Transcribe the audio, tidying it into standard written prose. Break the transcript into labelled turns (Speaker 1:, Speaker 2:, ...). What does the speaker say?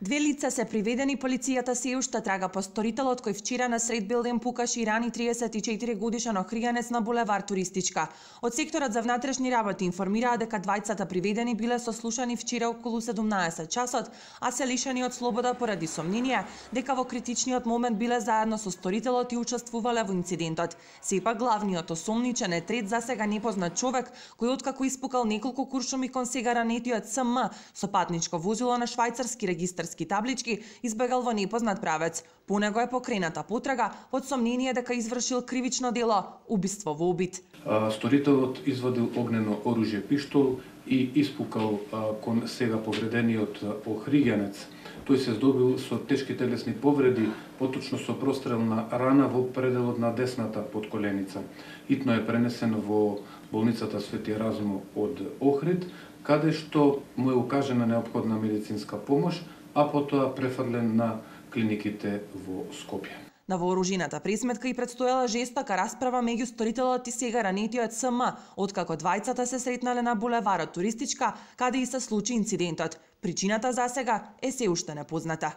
Speaker 1: Две лица се приведени, полицијата се уште трага по сторителот кој вчера на сред билден пукаш и рани 34 годишен охријанец на булевар Туристичка. Од секторот за внатрешни работи информираа дека двајцата приведени биле сослушани вчера околу 17 часот, а се лишени од слобода поради сомнение дека во критичниот момент биле заедно со сторителот и учествувале во инцидентот. Сепак главниот осомничен е трет засега непознат човек кој откако испукал неколку куршуми кон сега ранетиот СМ со патничко возило на швајцарски регистарски таблички избегал во непознат правец. По него е покрената потрага од сомнение дека извршил кривично дело убиство во обид.
Speaker 2: Сторителот извадил огнено оружје пиштол и испукал кон сега повредениот охријанец. Тој се здобил со тешки телесни повреди, поточно со прострелна рана во пределот на десната подколеница. Итно е пренесен во болницата Свети Разумо од Охрид, каде што му е укажена неопходна медицинска помош, а потоа префрлен на клиниките во Скопје.
Speaker 1: На вооружената пресметка и предстоела жестока расправа меѓу сторителот и сега ранетиот СМ, откако двајцата се сретнале на булеварот Туристичка, каде и се случи инцидентот. Причината засега е се уште непозната.